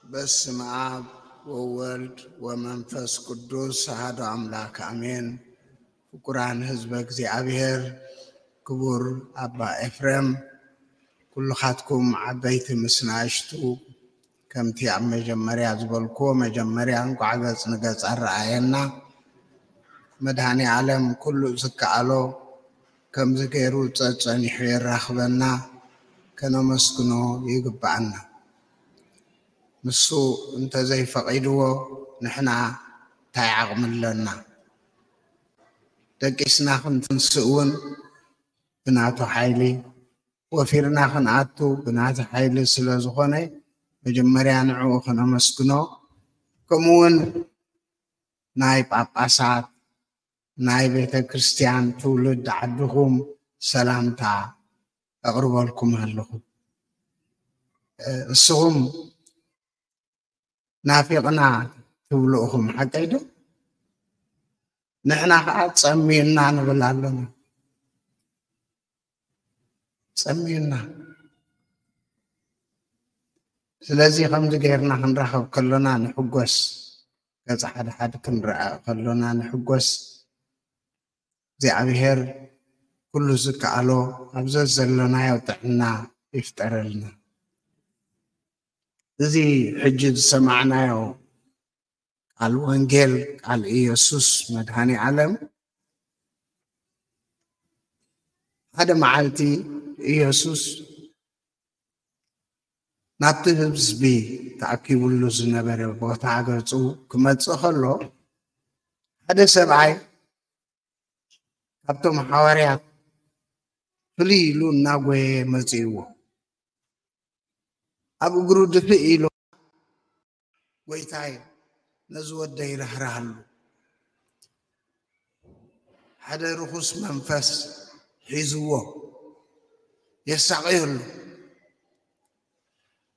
በስመ አብ ወወልድ ወመንፈስ ቅዱስ አሐዱ አምላክ አሜን። ፍቁራን ህዝበ እግዚኣብሔር፣ ክቡር ኣባ ኤፍሬም፣ ኩልኻትኩም ዓበይቲ ምስ ንኣሽቱ፣ ከምቲ ኣብ መጀመርያ ዝበልክዎ፣ መጀመርያ እንቋዕ ገጽ ንገጽ ኣረኣየና። መድኃኔ ዓለም ኩሉ ዝከኣሎ ከምዚ ገይሩ ጸጸኒሑ የራኽበና፣ ከነመስግኖ ይግብኣና። ንሱ እንተዘይፈቒድዎ ንሕና እንታይ ዓቕሚ ኣለና? ደቂስና ክንትንስእ እውን ብናቱ ሓይሊ፣ ወፊርና ክንኣቱ ብናቱ ሓይሊ ስለ ዝኾነ፣ መጀመርያ ንዕኡ ከነመስግኖ፣ ከምኡውን ናይ ጳጳሳት፣ ናይ ቤተ ክርስቲያን ትውልድ ዓድኹም ሰላምታ ኣቕርበልኩም ኣለኹ። እ፣ ንስኹም ናፊቕና ትብሉ ኢኹም፣ ሓቀይ ዶ? ንሕና ኸዓ ጸምዩና ንብል ኣለና። ጸምዩና። ስለዚ ከምዚ ጌርና ክንራኸብ ከሎና ንሕጎስ። ገጽ ሓድሓድ ክንረኣ ከሎና ንሕጎስ። እግዚኣብሔር ኩሉ ዝከኣሎ ኣብ ዘዘለናዮ ጥዕና ይፍጠረልና። እዚ ሕጂ ዝሰማዕናዮ ቃል ወንጌል፣ ቃል ኢየሱስ መድኃኔ ዓለም፣ ሓደ መዓልቲ ኢየሱስ ናብቲ ህዝቢ ተኣኪቡሉ ዝነበረ ቦታ ገጹ ክመጽእ ከሎ፣ ሓደ ሰብኣይ ካብቶም ሓዋርያት ፍልይ ኢሉ እናጎየ መጺእዎ። ኣብ እግሩ ድፍእ ኢሉ፣ "ጎይታይ፣ ነዚ ወደይ ርህርሃሉ። ሓደ ርኹስ መንፈስ ሒዝዎ፣ የሳቕዮ ኣሎ።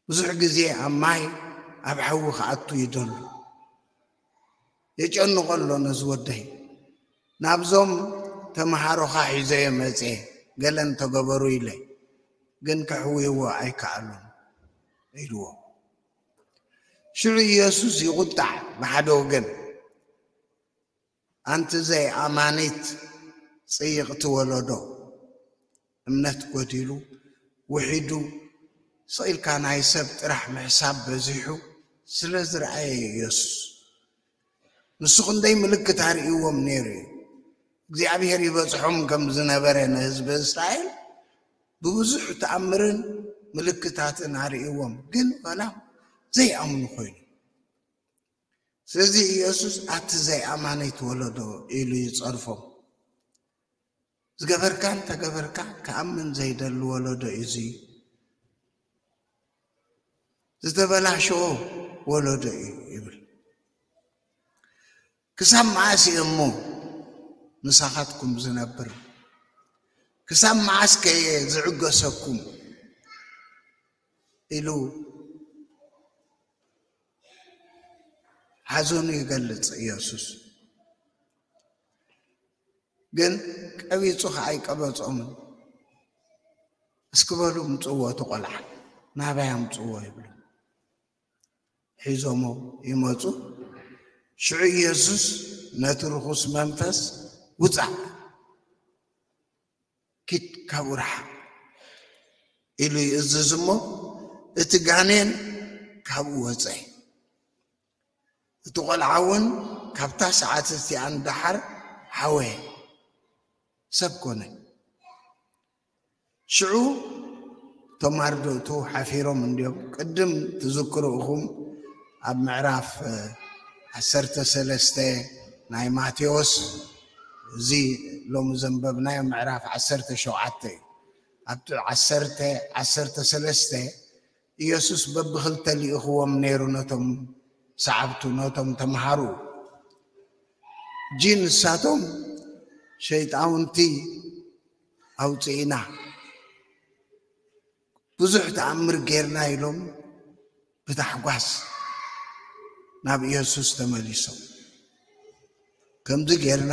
ብዙሕ ግዜ ኣብ ማይ፣ ኣብ ሓዊ ክኣቱ ይደሉ። የጨንቖ ኣሎ ነዚ ወደይ። ናብዞም ተምሃሮኻ ሒዘዮ መጽየ፣ ገለ እንተገበሩ ኢለ፣ ግን ከሕውይዎ ኣይከኣሉን" ኢልዎ። ሽዑ ኢየሱስ ይቑጣዕ ብሓደ ወገን። "ኣንቲ ዘይኣማኒት ጽይቕቲ ወለዶ፣ እምነት ጎዲሉ፣ ውሒዱ፣ ስቕ ኢልካ ናይ ሰብ ጥራሕ ምሕሳብ በዚሑ ስለ ዝረኣየ ኢየሱስ፣ ንሱ ክንደይ ምልክት ኣርእይዎም ነይሩ እዩ። እግዚኣብሔር ይበጽሖም ከም ዝነበረ ንህዝቢ እስራኤል ብብዙሕ ተኣምርን ምልክታትን ኣርእይዎም፣ ግን ዋላ ዘይኣምኑ ኮይኑ። ስለዚ ኢየሱስ ኣቲ ዘይኣማነይት ወለዶ ኢሉ ይጸርፎም። ዝገበርካን ተገበርካ ክኣምን ዘይደሊ ወለዶ እዩ፣ እዚ ዝተበላሸወ ወለዶ እዩ ይብል። ክሳብ መዓስ እየ እሞ ምሳኻትኩም ዝነብር? ክሳብ መዓስ ከ እየ ዝዕገሰኩም? ኢሉ ሓዘኑ ይገልጽ ኢየሱስ። ግን ቀቢጹ ኸዓ ኣይቀበጾምን። "እስኪ በሉ ምጽዎ እቲ ቖልዓ፣ ናባይ ኣምጽዎ" ይብሉ። ሒዞሞ ይመጹ። ሽዑ ኢየሱስ ነቲ ርኹስ መንፈስ፣ "ውጻእ፣ ኪድ ካብኡ ርሓቕ" ኢሉ ይእዝዝ እሞ፣ እቲ ጋኔን ካብኡ ወጸ። እቲ ቖልዓ እውን ካብታ ሰዓት እቲኣ ንደሓር ሓወየ፣ ሰብ ኮነ። ሽዑ እቶም ኣርድእቱ ሓፊሮም እንድዮም። ቅድም ትዝክሩ ኢኹም፣ ኣብ ምዕራፍ፣ እ፣ ዓሰርተ ሰለስተ ናይ ማቴዎስ፣ እዚ ሎሚ ዘንበብናዮ ምዕራፍ ዓሰርተ ሸውዓተ እዩ። ኣብቲ ዓሰርተ፣ ዓሰርተ ሰለስተ ኢየሱስ በብኽልተ ልኢኽዎም ነይሩ ነቶም ሰዓብቱ፣ ነቶም ተምሃሩ። እጂ ንሳቶም ሸይጣውንቲ ኣውፅኢና፣ ብዙሕ ተኣምር ጌርና ኢሎም ብታሕጓስ ናብ ኢየሱስ ተመሊሶም። ከምዚ ጌርና፣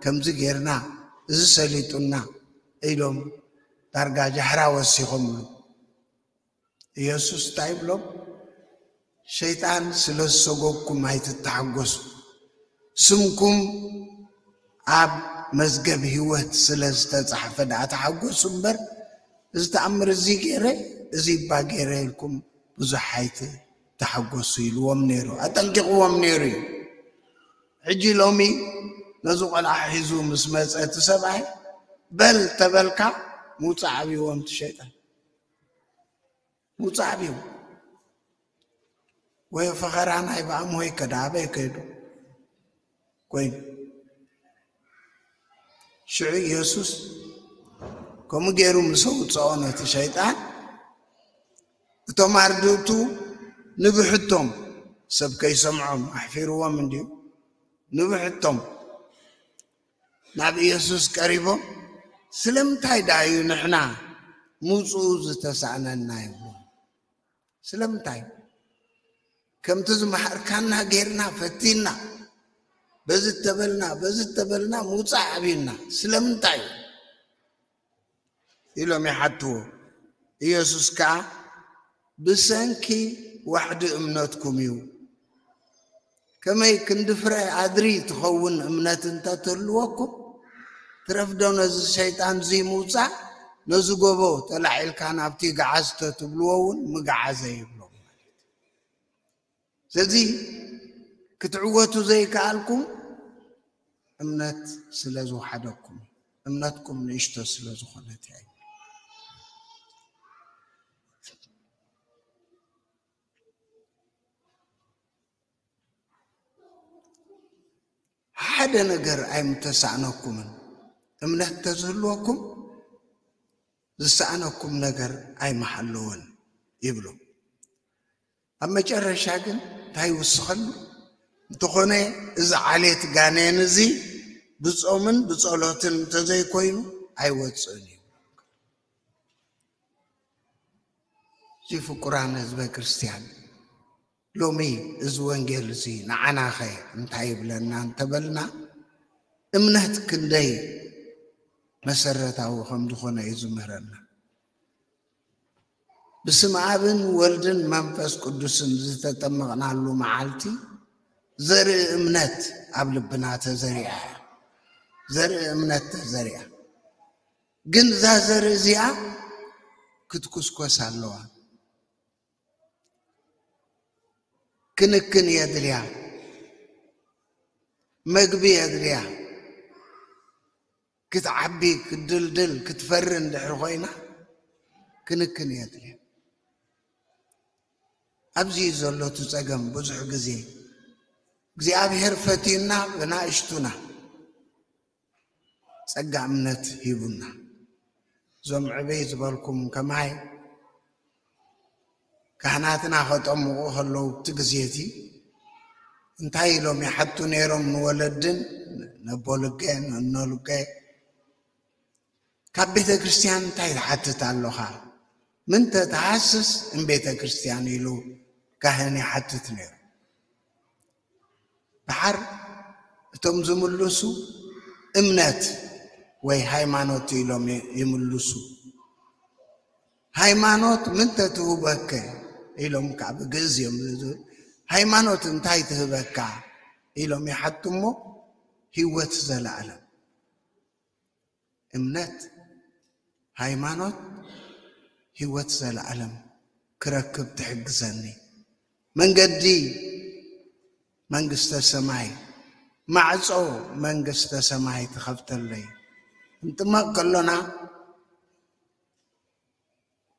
ከምዚ ጌርና፣ እዚ ሰሊጡና ኢሎም ዳርጋ ጃሕራ ወሲኾምሉ። ኢየሱስ እንታይ ይብሎም? ሸይጣን ስለ ዝሰጎግኩም ኣይትተሓጎሱ። ስምኩም ኣብ መዝገብ ህይወት ስለ ዝተጻሕፈ ደኣ ተሓጎሱ እምበር፣ እዚ ተኣምር እዚ ገይረ፣ እዚ እባ ገይረ ኢልኩም ብዙሕ ኣይትተሓጎሱ ኢልዎም ነይሩ። ኣጠንቂቕዎም ነይሩ እዩ። ሕጂ ሎሚ ነዚ ቆልዓ ሒዙ ምስ መጸ እቲ ሰብኣይ፣ በል ተበልካ፣ ምውጻእ ኣብይዎም እቲ ሸይጣን። ምውጻእ ኣብይዎም። ወይ ፈኸራ ናይ ብኣምሆይ ከዳ ኣበይ ከይዱ ኮይኑ። ሽዑ ኢየሱስ ከምኡ ገይሩ ምስ ኣውጽኦ ነቲ ሸይጣን፣ እቶም ኣርድእቱ ንብሕቶም፣ ሰብ ከይሰምዖም ኣሕፊርዎም እንድዩ፣ ንብሕቶም ናብ ኢየሱስ ቀሪቦም፣ ስለምንታይ ደኣ እዩ ንሕና ምውጽኡ ዝተሳእነና? ይብሉ። ስለምንታይ? ከምቲ ዝመሃርካና ጌርና ፈቲና፣ በዚ ተበልና፣ በዚ ተበልና፣ ምውጻእ ኣብዩና። ስለምንታይ? ኢሎም ይሓትዎ። ኢየሱስ ከኣ፣ ብሰንኪ ዋሕዲ እምነትኩም እዩ። ከመይ ክንዲ ፍረ ኣድሪ ትኸውን እምነት እንተ ትህልወኩም፣ ትረፍዶ ነዚ ሸይጣን እዚ ምውጻእ፣ ነዚ ጎቦ ተላዒልካ ናብቲ ገዓዝ ተትብልዎ እውን ምገዓዘ ይብሎም። ስለዚ ክትዕወቱ ዘይከኣልኩም እምነት ስለ ዝወሓደኩም፣ እምነትኩም ንእሽቶ ስለ ዝኾነት እያ። ሓደ ነገር ኣይምተሳእነኩምን፣ እምነት ተዝህልወኩም ዝሰኣነኩም ነገር ኣይምሃለወን ይብሉ። ኣብ መጨረሻ ግን እንታይ ይውስኸሉ? እንተኾነ እዚ ዓሌት ጋኔን እዚ ብጾምን ብጸሎትን እንተዘይኮይኑ ኣይወጽእን እዩ። እዚ ፍቁራን ህዝበ ክርስቲያን፣ ሎሚ እዚ ወንጌል እዚ ንዓናኸ እንታይ ይብለና እንተበልና፣ እምነት ክንደይ መሰረታዊ ከም ዝኾነ እዩ ዝምህረና። ብስም ኣብን ወልድን መንፈስ ቅዱስን ዝተጠመቕናሉ መዓልቲ ዘርኢ እምነት ኣብ ልብና ተዘሪኣ እያ። ዘርኢ እምነት ተዘሪኣ። ግን እዛ ዘርኢ እዚኣ ክትኩስኮስ ኣለዋ። ክንክን የድልያ፣ መግቢ የድልያ። ክትዓቢ፣ ክትድልድል፣ ክትፈሪ እንድሕር ኮይና ክንክን የድልያ። ኣብዚ ዘሎ እቲ ጸገም። ብዙሕ ግዜ እግዚኣብሔር ፈትዩና ብናእሽቱና ጸጋ እምነት ሂቡና። እዞም ዕበይ ዝበልኩም ከማይ ካህናትና ከጠምቑ ከለዉ፣ እቲ ግዜ እቲ እንታይ ኢሎም ይሓቱ ነይሮም ንወለድን፣ ነቦ ልገ፣ ነኖ ልገ፣ ካብ ቤተ ክርስቲያን እንታይ ትሓትት ኣለኻ? ምንተ ተሃስስ እም ቤተ ክርስቲያን ኢሉ ካህን ይሓትት ነይሩ። ደሓር እቶም ዝምልሱ እምነት ወይ ሃይማኖት ኢሎም ይ-፣ ይምልሱ። ሃይማኖት ምንተ ትህበከ ኢሎም፣ ካብ ግእዝ እዮም ዝብል። ሃይማኖት እንታይ ትህበካ ኢሎም ይሓቱ እሞ፣ ህይወት ዘለኣለም። እምነት፣ ሃይማኖት፣ ህይወት ዘለኣለም ክረክብ ትሕግዘኒ። መንገዲ መንግስተ ሰማይ፣ ማዕጾ መንግስተ ሰማይ ትኸፍተለይ። ክንጥመቕ ከሎና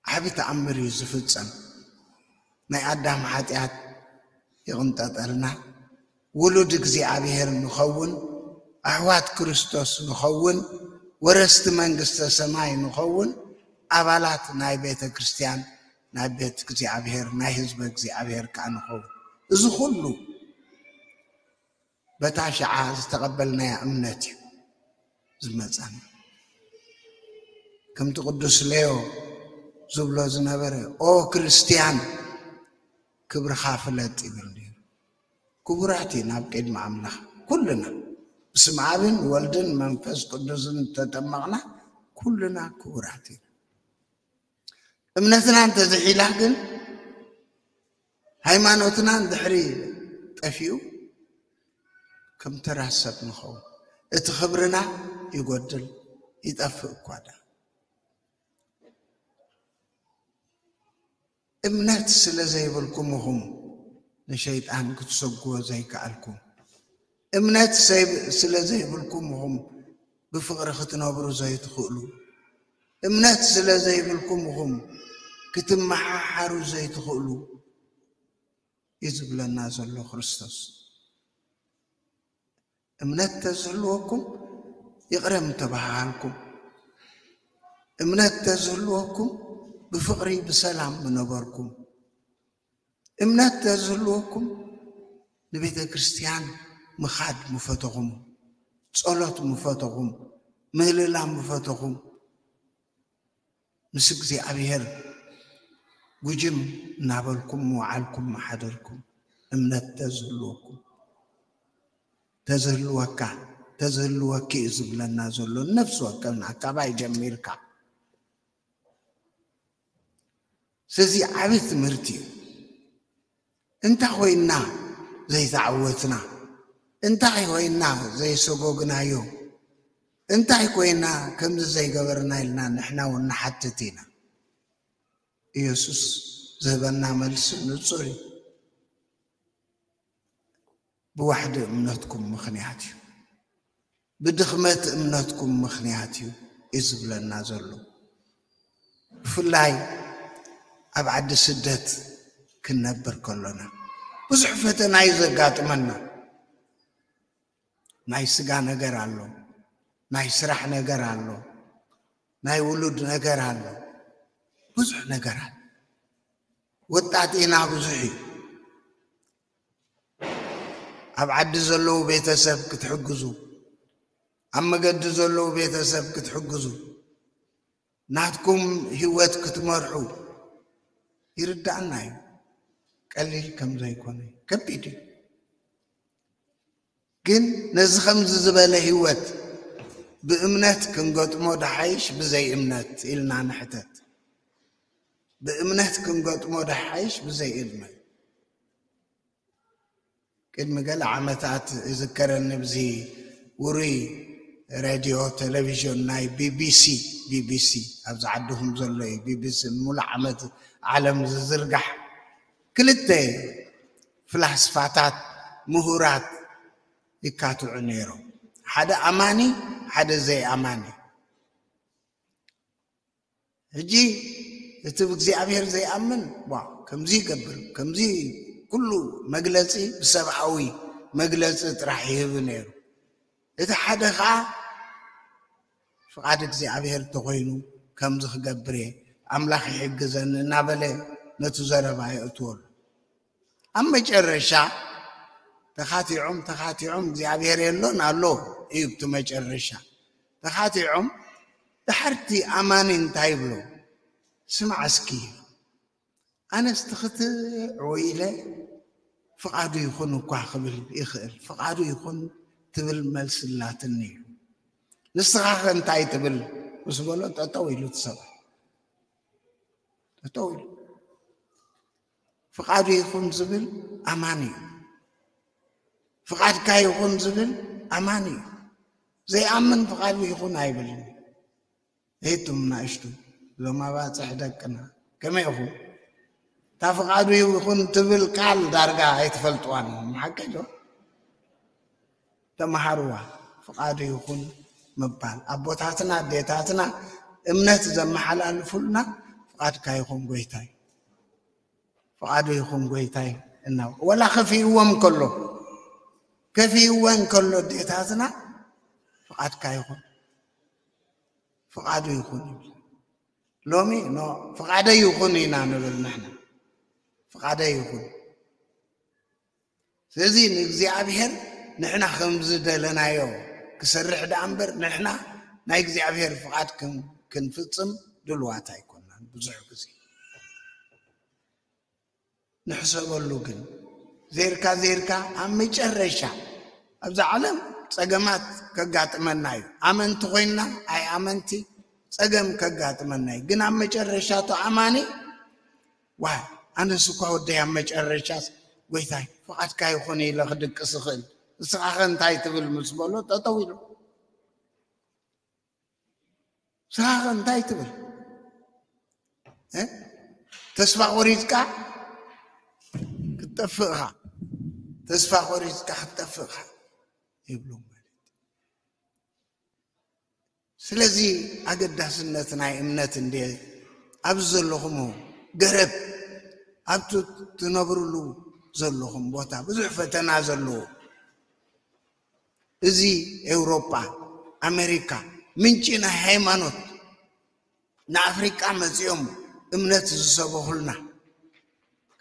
ዓቢ ተኣምር እዩ ዝፍጸም። ናይ ኣዳም ሓጢኣት ይቕንጠጠልና፣ ውሉድ እግዚኣብሔር ንኸውን፣ ኣሕዋት ክርስቶስ ንኸውን፣ ወረስቲ መንግስተ ሰማይ ንኸውን፣ ኣባላት ናይ ቤተ ክርስቲያን፣ ናይ ቤት እግዚኣብሔር፣ ናይ ህዝበ እግዚኣብሔር ከኣ ንኸውን። እዚ ኩሉ በታ ሽዓ ዝተቐበልናያ እምነት እዩ ዝመጻና። ከምቲ ቅዱስ ሌዮ ዝብሎ ዝነበረ፣ "ኦ ክርስትያን፣ ክብርኻ ፍለጥ" ይብል ነይሩ። ክቡራት ኢና ኣብ ቅድሚ ኣምላኽ ኩልና፣ ብስም ኣብን ወልድን መንፈስ ቅዱስን እተጠመቕና ኩልና ክቡራት ኢና። እምነትና እንተዝሒላ ግን፣ ሃይማኖትና እንድሕሪ ጠፊኡ ከም ተራ ሰብ ንኸውን። እቲ ክብርና ይጎድል፣ ይጠፍእ እኳ ደኣ። እምነት ስለ ዘይብልኩም ኢኹም ንሸይጣን ክትሰግዎ ዘይከኣልኩም። እምነት ሰይ-፣ ስለ ዘይብልኩም ኢኹም ብፍቕሪ ክትነብሩ ዘይትኽእሉ። እምነት ስለ ዘይብልኩም ኢኹም ክትመሓሓሩ ዘይትኽእሉ እዩ ዝብለና ዘሎ ክርስቶስ። እምነት ተዝህልወኩም ይቕረ ምተባሃሃልኩም። እምነት ተዝህልወኩም ብፍቕሪ ብሰላም ምነበርኩም። እምነት ተዝህልወኩም ንቤተ ክርስቲያን ምኻድ ምፈተኹም፣ ጸሎት ምፈተኹም፣ ምህልላ ምፈተኹም፣ ምስ እግዚኣብሔር ጉጅም እናበልኩም ምወዓልኩም ምሓደርኩም። እምነት ተዝህልወኩም፣ ተዝህልወካ፣ ተዝህልወኪ እዩ ዝብለና ዘሎ። ነፍሲ ወከፍና ካባይ ጀሚርካ። ስለዚ ዓቢ ትምህርቲ እዩ። እንታይ ኮይና ዘይተዓወትና? እንታይ ኮይና ዘይሰጎግናዮ? እንታይ ኮይና ከምዚ ዘይገበርና ኢልና ንሕና እውን ንሓትት ኢና። ኢየሱስ ዝህበና መልሲ ንጹር እዩ። ብዋሕዲ እምነትኩም ምኽንያት እዩ። ብድኽመት እምነትኩም ምኽንያት እዩ፣ እዩ ዝብለና ዘሎ። ብፍላይ ኣብ ዓዲ ስደት ክንነብር ከሎና ብዙሕ ፈተና እዩ ዘጋጥመና። ናይ ስጋ ነገር ኣሎ፣ ናይ ስራሕ ነገር ኣሎ፣ ናይ ውሉድ ነገር ኣሎ፣ ብዙሕ ነገር ኣሎ። ወጣጢና ብዙሕ እዩ። ኣብ ዓዲ ዘለዉ ቤተሰብ ክትሕግዙ፣ ኣብ መገዲ ዘለዉ ቤተሰብ ክትሕግዙ፣ ናትኩም ህይወት ክትመርሑ ይርዳእና እዩ። ቀሊል ከም ዘይኮነ፣ ከቢድ እዩ። ግን ነዚ ከምዚ ዝበለ ህይወት ብእምነት ክንገጥሞ ደሓይሽ ብዘይ እምነት ኢልና ንሕተት። ብእምነት ክንገጥሞ ደሓይሽ ብዘይ እምነት። ቅድሚ ገለ ዓመታት ይዝከረኒ፣ ብዚ ውሩይ ሬድዮ ቴሌቪዥን ናይ ቢቢሲ፣ ቢቢሲ ኣብዚ ዓድኹም ዘሎ እዩ፣ ቢቢሲ ንሙሉእ ዓመት ዓለም ዝዝርጋሕ፣ ክልተ ፍላስፋታት፣ ምሁራት ይካትዑ ነይሮም። ሓደ ኣማኒ፣ ሓደ ዘይኣማኒ። ሕጂ እቲ ብእግዚኣብሔር ዘይኣምን፣ ዋ፣ ከምዚ ይገብር፣ ከምዚ፣ ኩሉ መግለጺ ብሰብኣዊ መግለጺ ጥራሕ ይህብ ነይሩ። እቲ ሓደ ኸኣ ፍቓድ እግዚኣብሔር እንተኾይኑ ከምዚ ክገብር እየ፣ ኣምላኽ ይሕግዘኒ እናበለ ነቲ ዘረባ የእትወሉ። ኣብ መጨረሻ ተኻቲዖም፣ ተኻቲዖም፣ እግዚኣብሔር የሎን ኣሎ እዩ እቲ መጨረሻ። ተኻቲዖም፣ ድሓርቲ ኣማኒ እንታይ ይብሎ? ስማዕ እስኪ፣ ኣነስ ትኽትዕ ኢለ ፍቓዱ ይኹን እኳ ክብል ይኽእል፣ ፍቓዱ ይኹን ትብል መልሲ ኣላትኒ ኢሉ። ንስኻ ኸ እንታይ ትብል? ምስ በሎ፣ ጠጠው ኢሉ እቲ ሰብኣይ። ጠጠው ኢሉ። ፍቓዱ ይኹን ዝብል ኣማኒ እዩ። ፍቓድካ ይኹን ዝብል ኣማኒ እዩ። ዘይኣምን ፍቓዱ ይኹን ኣይብልን። ሄቱም ናእሽቱ፣ እዞም ኣባጽሕ ደቅና፣ ከመይ ኢኹም? እታ ፍቓዱ ይኹን ትብል ቃል ዳርጋ ኣይትፈልጥዋን ኢኹም፣ ሓቂ ዶ? ተመሃርዋ። ፍቓዱ ይኹን ምባል፣ ኣቦታትና ኣዴታትና እምነት ዘመሓላልፉልና፣ ፍቓድካ ይኹን ጎይታይ፣ ፍቓዱ ይኹን ጎይታይ እናው-፣ ወላ ከፊእዎም ከሎ፣ ከፊእወን ከሎ ኣዴታትና፣ ፍቓድካ ይኹን፣ ፍቓዱ ይኹን ይብል። ሎሚ፣ ኖ፣ ፍቓደይ ይኹን ኢና ንብል ንሕና። ፍቓደይ ይኹን። ስለዚ ንእግዚኣብሔር ንሕና ከም ዝደለናዮ ክሰርሕ ደኣ እምበር፣ ንሕና ናይ እግዚኣብሔር ፍቓድ ክን-፣ ክንፍጽም ድልዋት ኣይኮናን ብዙሕ ግዜ። ንሕሰበሉ ግን፣ ዜርካ ዜርካ ኣብ መጨረሻ ኣብዛ ዓለም ጸገማት ከጋጥመና እዩ። ኣመንቲ ኮይንና ኣይ ኣመንቲ ጸገም ከጋጥመና እዩ። ግን ኣብ መጨረሻ እቶ ኣማኒ፣ ዋይ፣ ኣነስ እኳ ወደይ ኣብ መጨረሻስ ጎይታይ ፍቓድካ ይኹን ኢለ ክድቅስ እኽእል፣ ንስኻ ኸ እንታይ ትብል ምስ በሎ ጠጠው ኢሉ። ንስኻ ኸ እንታይ ትብል? እ? ተስፋ ቆሪጽካ ክትጠፍእ ኢኻ። ተስፋ ቆሪጽካ ክትጠፍእ ኢኻ ይብሉ ማለት እዩ። ስለዚ ኣገዳስነት ናይ እምነት እንደ ኣብዚ ዘለኹም ገረብ፣ ኣብቲ ትነብርሉ ዘለኹም ቦታ ብዙሕ ፈተና ዘለዎ፣ እዚ ኤውሮጳ፣ ኣሜሪካ ምንጪ ናይ ሃይማኖት፣ ንኣፍሪቃ መጺኦም እምነት ዝሰበኹልና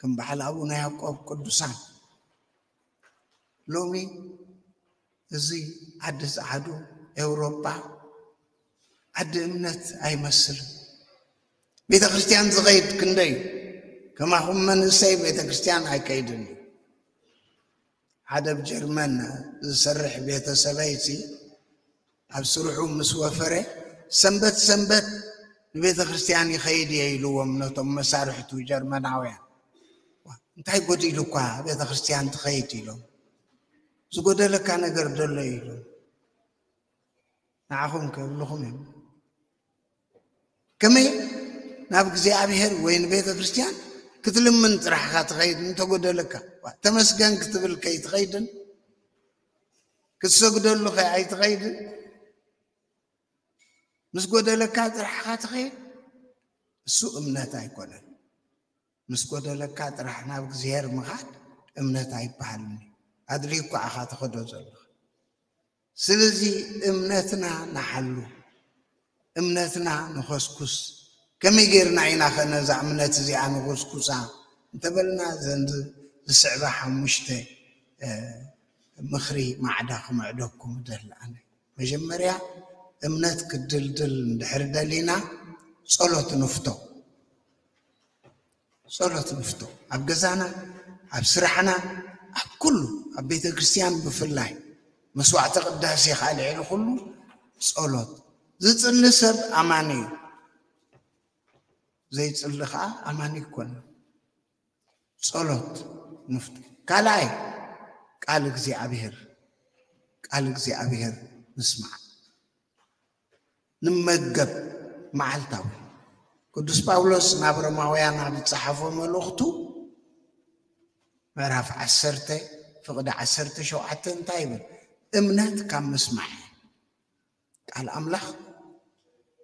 ከም በዓል ኣቡነ ያዕቆብ ቅዱሳን፣ ሎሚ እዚ ዓዲ ጸዓዱ ኤውሮጳ ዓዲ እምነት ኣይመስልን። ቤተ ክርስቲያን ዝኸይድ ክንደይ እዩ? ከማኹም መንእሰይ ቤተ ክርስቲያን ኣይከይድን እዩ። ሓደ ኣብ ጀርመን ዝሰርሕ ቤተሰበይሲ ኣብ ስርሑ ምስ ወፈረ ሰንበት ሰንበት ንቤተ ክርስቲያን ይኸይድ እየ ኢልዎም ነቶም መሳርሕቱ ጀርመናውያን። "ዋ፣ እንታይ ጎዲሉ እኳ ቤተ ክርስቲያን ትኸይድ?" ኢሎም። "ዝጎደለካ ነገር ደሎ?" ኢሎም። ንዓኹም ከብልኹም እዮም። ከመይ ናብ እግዚኣብሔር ወይ ንቤተ ክርስቲያን ክትልምን ጥራሕካ ትኸይድ? እንተጎደለካ ዋ፣ ተመስገን ክትብል ከይትኸይድን ክትሰግደሉ ከ ኣይትኸይድን? ምስ ጎደለካ ጥራሕካ ትኸይድ? እሱ እምነት ኣይኮነን። ምስ ጎደለካ ጥራሕ ናብ እግዚኣብሔር ምኻድ እምነት ኣይበሃልን እዩ። ኣድልዩ እኳ ኢኻ ትኸዶ ዘለኻ። ስለዚ እምነትና ንሓሉ፣ እምነትና ንኸስኩስ። ከመይ ጌርና ኢና ኸ ነዛ እምነት እዚኣ ንኹስኩሳ እንተበልና፣ ዘን ዝ-፣ ዝስዕባ ሓሙሽተ፣ እ፣ ምኽሪ ማዕዳ ክምዕደኩም እደሊ ኣነ። መጀመርያ፣ እምነት ክድልድል እንድሕር ደሊና፣ ጸሎት ንፍቶ። ጸሎት ንፍቶ። ኣብ ገዛና፣ ኣብ ስራሕና፣ ኣብ ኩሉ፣ ኣብ ቤተ ክርስቲያን ብፍላይ፣ መስዋዕተ ቅዳሴ ኻልዒ ኩሉ ጸሎት። ዝጽሊ ሰብ ኣማኒ እዩ። ዘይጽሊ ኸኣ ኣማኒ ኣይኮነን። ጸሎት ንፍቶ። ካልኣይ፣ ቃል እግዚኣብሔር፣ ቃል እግዚኣብሔር ንስማዕ፣ ንመገብ መዓልታዊ። ቅዱስ ጳውሎስ ናብ ሮማውያን ኣብ ዝጸሓፎ መልእኽቱ ምዕራፍ ዓሰርተ ፍቕዲ ዓሰርተ ሸውዓተ እንታይ ይብል? እምነት ካብ ምስማዕ። ቃል ኣምላኽ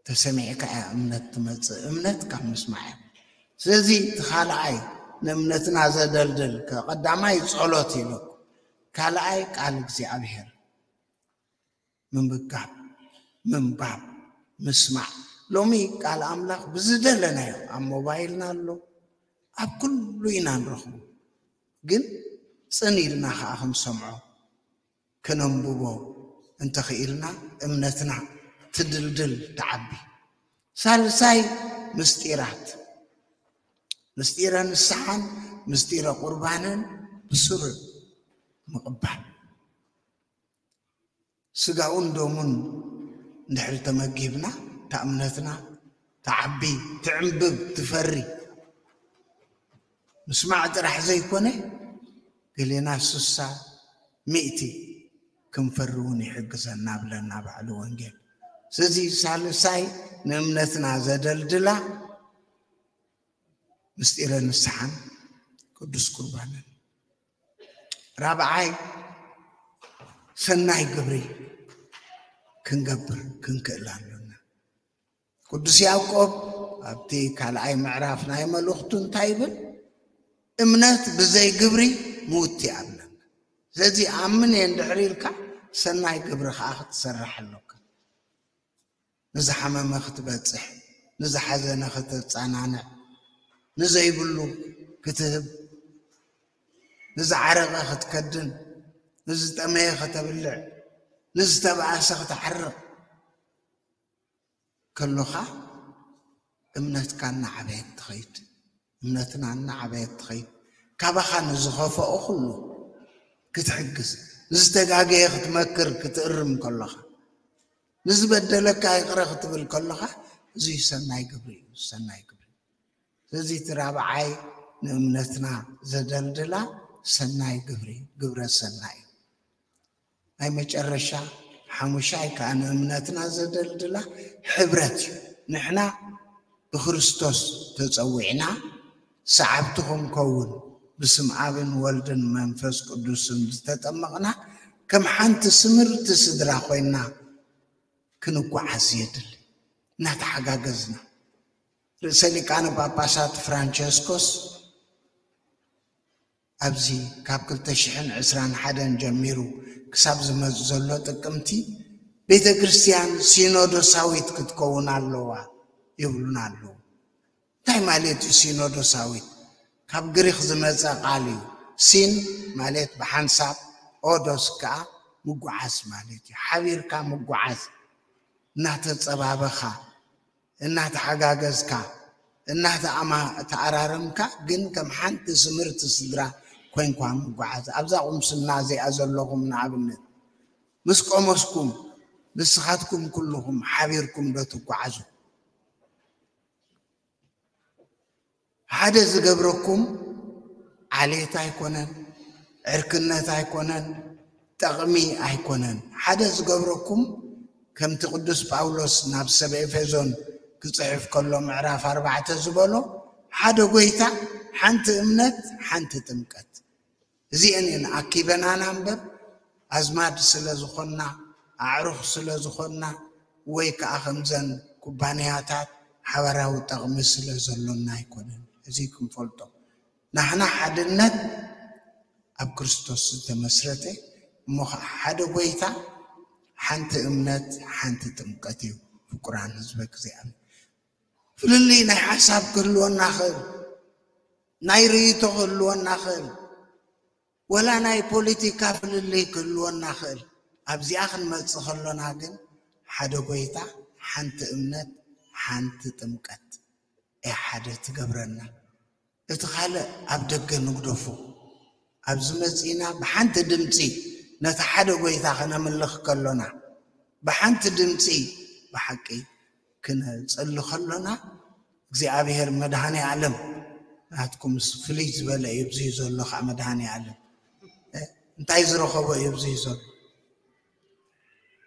ተሰሚዕካ እያ እምነት ትመጽእ፣ እምነት ካብ ምስማዕ እያ። ስለዚ እቲ ካልኣይ ንእምነትና ዘደልድል፣ ቀዳማይ ጸሎት ኢሉ፣ ካልኣይ ቃል እግዚኣብሔር ምምጋብ፣ ምንባብ፣ ምስማዕ። ሎሚ ቃል ኣምላኽ ብዝደለናዮ ኣብ ሞባይልና ኣሎ፣ ኣብ ኩሉ ኢና ንረኽቦ። ግን ጽን ኢልና ኸኣ ክንሰምዖ፣ ከነንብቦ እንተኽኢልና እምነትና ትድልድል፣ ትዓቢ። ሳልሳይ ምስጢራት፣ ምስጢረ ንስሓን ምስጢረ ቁርባንን ብስሩዕ ምቕባል። ስጋኡን ደሙን እንድሕር ተመጊብና እታ እምነትና ትዓቢ፣ ትዕንብብ፣ ትፈሪ። ምስማዕ ጥራሕ ዘይኮነ ገሌና ስሳ ሚእቲ ክንፈሪ እውን ይሕግዘና ብለና ባዕሉ ወንጌል። ስለዚ ሳልሳይ ንእምነትና ዘደልድላ ምስጢረ ንስሓን ቅዱስ ቁርባንን። ራብዓይ ሰናይ ግብሪ ክንገብር ክንክእል ኣሎና። ቅዱስ ያዕቆብ ኣብቲ ካልኣይ ምዕራፍ ናይ መልእኽቱ እንታይ ይብል? እምነት ብዘይ ግብሪ ምውት እያ ኣብለና። ስለዚ ኣምን እየ እንድሕር ኢልካ ሰናይ ግብሪ ከዓ ክትሰርሕ ኣለካ። ንዝሓመመ ክትበጽሕ፣ ንዝሓዘነ ከተጸናንዕ፣ ንዘይብሉ ክትህብ፣ ንዝዓረቐ ክትከድን፣ ንዝጠመየ ከተብልዕ፣ ንዝተባእሰ ክትዓርቕ ከሎኻ እምነትካ እናዓበየት ትኸይድ። እምነትና እናዓበየት ትኸይድ። ካባኻ ንዝኸፍኦ ኩሉ ክትሕግዝ፣ ንዝተጋገየ ክትመክር፣ ክትእርም ከሎኻ፣ ንዝበደለካ ይቕረ ክትብል ከሎኻ፣ እዚ ሰናይ ግብሪ እዩ፣ ሰናይ ግብሪ። ስለዚ እቲ ራብዓይ ንእምነትና ዘደልድላ ሰናይ ግብሪ፣ ግብረ ሰናይ እዩ። ናይ መጨረሻ ሓሙሻይ ከዓ ንእምነትና ዘደልድላ ሕብረት እዩ። ንሕና ብክርስቶስ ተጸዊዕና ሰዓብቲ ክንከውን ብስም ኣብን ወልድን መንፈስ ቅዱስን ዝተጠመቕና ከም ሓንቲ ስምርቲ ስድራ ኮይና ክንጓዓዝ የድሊ። እናተሓጋገዝና ርእሰ ሊቃነ ጳጳሳት ፍራንቸስኮስ ኣብዚ ካብ ክልተ ሽሕን ዕስራን ሓደን ጀሚሩ ክሳብ ዝመጽእ ዘሎ ጥቅምቲ ቤተ ክርስቲያን ሲኖዶሳዊት ክትከውን ኣለዋ ይብሉና ኣለዉ። እንታይ ማለት እዩ ሲኖዶሳዊት? ካብ ግሪክ ዝመጸ ቃል እዩ። ሲን ማለት ብሓንሳብ፣ ኦዶስ ከኣ ምጉዓዝ ማለት እዩ። ሓቢርካ ምጉዓዝ፣ እናተጸባበኻ፣ እናተሓጋገዝካ፣ እናተኣራረምካ፣ ግን ከም ሓንቲ ስምርቲ ስድራ ኮይንኳ ምጉዓዝ። ኣብዛ ቁምስና እዚኣ ዘለኹም ንኣብነት ምስ ቆመስኩም ንስኻትኩም ኩልኹም ሓቢርኩም ዶ ትጓዓዙ? ሓደ ዝገብረኩም ዓሌት ኣይኮነን፣ ዕርክነት ኣይኮነን፣ ጠቕሚ ኣይኮነን። ሓደ ዝገብረኩም ከምቲ ቅዱስ ጳውሎስ ናብ ሰብ ኤፌሶን ክጽሕፍ ከሎ ምዕራፍ ኣርባዕተ ዝበሎ ሓደ ጎይታ፣ ሓንቲ እምነት፣ ሓንቲ ጥምቀት። እዚአን እየን ኣኪበናና እምበር ኣዝማድ ስለ ዝኾንና፣ ኣዕሩኽ ስለ ዝኾንና፣ ወይ ከኣ ከምዘን ኩባንያታት ሓባራዊ ጠቕሚ ስለ ዘሎና ኣይኮነን። እዚ ክንፈልጦ ናህና ሓድነት ኣብ ክርስቶስ ዝተመስረተ እሞ ኸዓ ሓደ ጎይታ፣ ሓንቲ እምነት፣ ሓንቲ ጥምቀት እዩ። ፍቁራን ህዝበ እግዚኣብሔር፣ ፍልልይ ናይ ሓሳብ ክህልወና ኽእል፣ ናይ ርእይቶ ክህልወና ኽእል፣ ወላ ናይ ፖለቲካ ፍልልይ ክህልወና ኽእል። ኣብዚኣ ክንመጽእ ከሎና ግን ሓደ ጎይታ፣ ሓንቲ እምነት፣ ሓንቲ ጥምቀት እያ ሓደ ትገብረና። እቲ ካልእ ኣብ ደገ ንግደፎ። ኣብዚ መጺእና ብሓንቲ ድምጺ ነቲ ሓደ ጎይታ ከነምልኽ ከሎና፣ ብሓንቲ ድምጺ ብሓቂ ክነጸሊ ከሎና እግዚኣብሔር መድኃኔ ዓለም ናትኩምስ ፍልይ ዝበለ እዩ። ብዙይ ዘሎ ከዓ መድኃኔ ዓለም እንታይ ዝረኸቦ እዩ? ብዙይ ዘሎ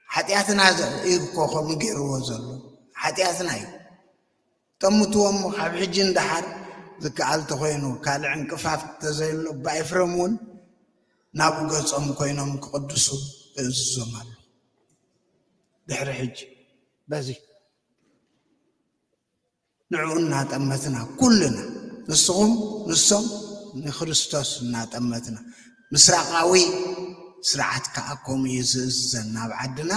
ሓጢኣትና እዩ እኮ ከምኡ ገይርዎ ዘሎ ሓጢኣትና እዩ። ጠምትዎ እሞ ካብ ሕጂ እንዳሓር ዝከኣል ተኮይኑ ካልዕ ዕንቅፋፍ ተዘይሎ ብኣይፍረም እውን ናብኡ ገጾም ኮይኖም ክቕድሱ እእዝዞም ኣሎ። ድሕሪ ሕጂ በዚ ንዕኡ እናጠመትና ኩልና ንስኹም ንሶም ንክርስቶስ እናጠመትና ምስራቃዊ ስርዓት ከዓ ከምኡ እዩ ዝእዝዘን ናብ ዓድና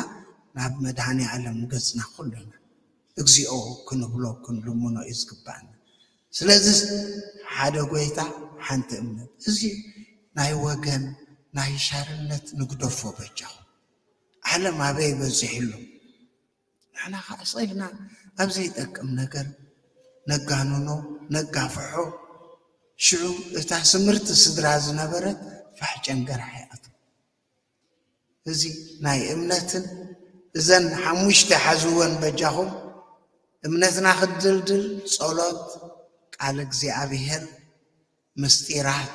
ናብ መድሃኒ ዓለም ገጽና ኩልና እግዚኣብሔር ክንብሎ ክንልምኖ እዩ ዝግባአና። ስለዚ ሓደ ጎይታ ሓንቲ እምነት እዚ ናይ ወገን ናይ ሻርነት ንግደፎ በጃኹም። ዓለም ኣበይ በፂሑ ኣሎ? ንሕና ከዓ ስቕ ኢልና ኣብ ዘይጠቅም ነገር ነጋንኖ ነጋፍሖ። ሽዑ እታ ስምርቲ ስድራ ዝነበረት ፋሕ ጨንገራ ይኣትው። እዚ ናይ እምነትን እዘን ሓሙሽተ ሓዝወን በጃኹም። እምነትና ክትድልድል ጸሎት፣ ቃል እግዚኣብሔር፣ ምስጢራት፣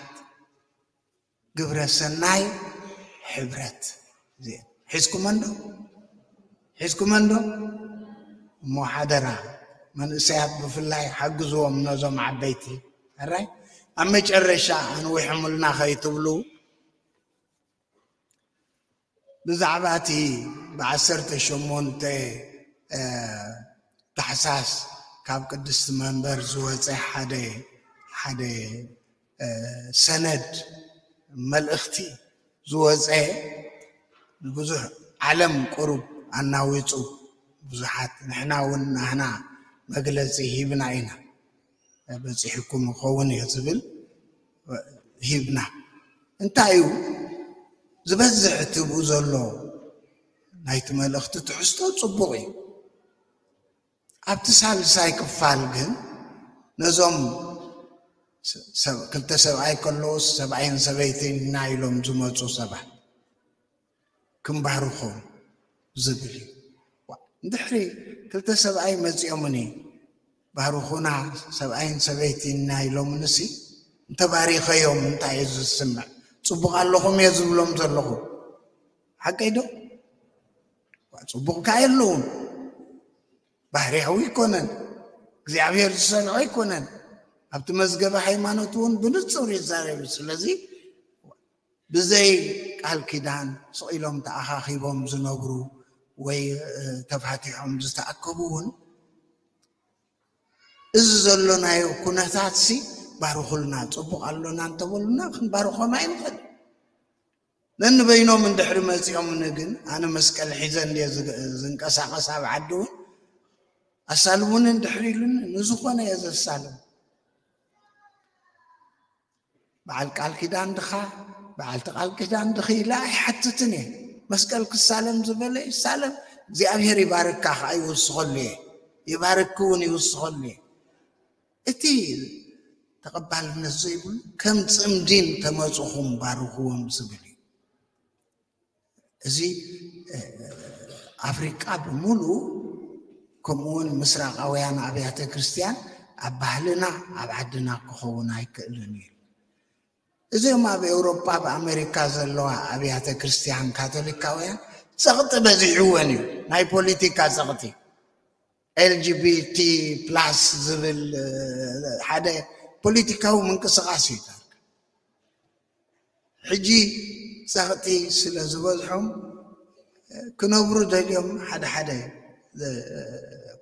ግብረ ሰናይ፣ ሕብረት። እዚአን ሒዝኩመን ዶ? ሒዝኩመን ዶ? እሞ ሓደራ መንእሰያት ብፍላይ ሓግዝዎም ነዞም ዓበይቲ። ሕራይ ኣብ መጨረሻ ኣንዊሖምልና ከይትብሉ ብዛዕባ እቲ ብዓሰርተ ሸሞንተ ታሕሳስ ካብ ቅድስቲ መንበር ዝወፀ ሓደ ሓደ ሰነድ መልእኽቲ ዝወፀ ንብዙሕ ዓለም ቁሩብ ኣናዊፁ ብዙሓት ንሕና እውን ናህና መግለፂ ሂብና ኢና። በፂሕኩም ይኸውን እዩ ዝብል ሂብና። እንታይ እዩ ዝበዝሕ ትብኡ ዘሎ ናይቲ መልእኽቲ ትሕዝቶ ፅቡቕ እዩ። ኣብቲ ሳልሳይ ክፋል ግን ነዞም ክልተ ሰብኣይ ከለውስ ሰብኣይን ሰበይትን ኢና ኢሎም ዝመፁ ሰባት ክንባርኾም ዝብል እዩ። እንድሕሪ ክልተ ሰብኣይ መፂኦምኒ ባርኹና ሰብኣይን ሰበይትን ኢና ኢሎምንሲ እንተባሪኸዮም እንታይ እዩ ዝስምዕ? ጽቡቕ ኣለኹም እየ ዝብሎም ዘለኹ። ሓቀይ ዶ? ጽቡቕ ከኣ የለውን። ባህርያዊ ኣይኮነን። እግዚኣብሔር ዝሰንዖ ኣይኮነን። ኣብቲ መዝገበ ሃይማኖት እውን ብንጹር ይዛረብ። ስለዚ ብዘይ ቃል ኪዳን ስቕ ኢሎም ተኣኻኺቦም ዝነብሩ ወይ ተፋቲሖም ዝተኣከቡ እውን እዚ ዘሎናዮ ኩነታት ሲ ባርኹልና፣ ጽቡቕ ኣሎና እንተበሉና ክንባርኾም ኣይንኽእል። ነንበይኖም እንድሕሪ መጺኦምኒ ግን ኣነ መስቀል ሒዘ እንድየ ዝንቀሳቐስ ኣብ ዓዲ እውን ኣሳልሙኒ እንድሕሪ ኢሉኒ ንዝኾነ እየ ዘሳልም። በዓል ቃል ኪዳን ድኻ በዓልቲ ቃል ኪዳን ድኺ ኢለ ኣይሓትትን እየ። መስቀል ክሳለም ዝበለ ይሳለም፣ እግዚኣብሔር ይባርካ ከዓ ይውስኸሉ እየ። ይባርክ እውን ይውስኸሉ እየ። እቲ ተቐባልነት ዘይብሉ ከም ጽምዲን ተመፅኹም ባርኽዎም ዝብል እዩ። እዚ ኣፍሪቃ ብምሉ ከምኡውን ምስራቃውያን ኣብያተ ክርስቲያን ኣብ ባህልና ኣብ ዓድና ክኸውን ኣይክእልን እዩ። እዚኦም ኣብ ኤውሮጳ ኣብ ኣሜሪካ ዘለዋ ኣብያተ ክርስቲያን ካቶሊካውያን ጸቕጢ በዚሕወን እዩ። ናይ ፖለቲካ ጸቕጢ ኤልጂቢቲ ፕላስ ዝብል ሓደ ፖለቲካዊ ምንቅስቃስ እዩ። ሕጂ ጸቕጢ ስለ ዝበዝሖም ክነብሩ ደልዮም ሓደ ሓደ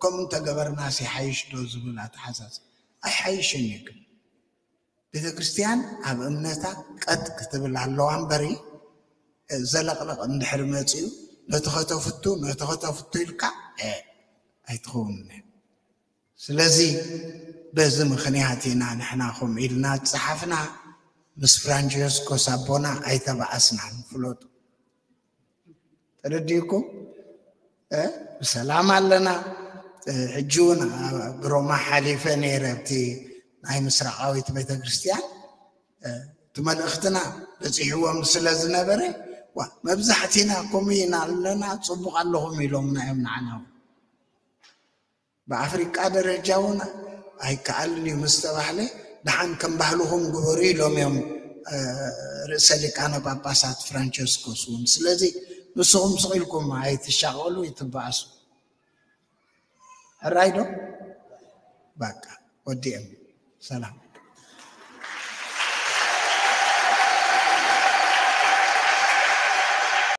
ከምኡ እንተገበርናስ ይሓይሽ ዶ ዝብል ኣተሓሳስባ ኣይሓይሽን እዩ። ግን ቤተ ክርስቲያን ኣብ እምነታ ቀጥ ክትብል ኣለዋ እምበሪ ዘለቕለቕ እንድሕሪ መጺኡ ነቲ ከተፍቱ ነቲ ከተፍቱ ኢልካ ኣይትኸውን። ስለዚ በዚ ምኽንያት ኢና ንሕና ከምኡ ኢልና ዝጸሓፍና። ምስ ፍራንቸስኮስ ኣቦና ኣይተባኣስናን። ፍለጡ። ተረዲእኩም? ብሰላም ኣለና። ሕጂ እውን ብሮማ ሓሊፈ ነይረ ኣብቲ ናይ ምስራቃዊት ቤተክርስትያን እቲ መልእኽትና በፂሕዎም ስለ ዝነበረ መብዛሕቲና ከምኡ ኢና ኣለና። ፅቡቅ ኣለኹም ኢሎምና እዮም ንዓና እውን። ብኣፍሪቃ ደረጃ እውን ኣይከኣልን እዩ ምስ ተባህለ ደሓን ከም ባህልኹም ግበሩ ኢሎም እዮም ርእሰ ሊቃነ ጳጳሳት ፍራንቸስኮስ እውን። ስለዚ ንስኹም ስቕ ኢልኩም ኣይትሻቐሉ፣ ይትበኣሱ። ሕራይ ዶ? በቃ ወዲኦም። ሰላም።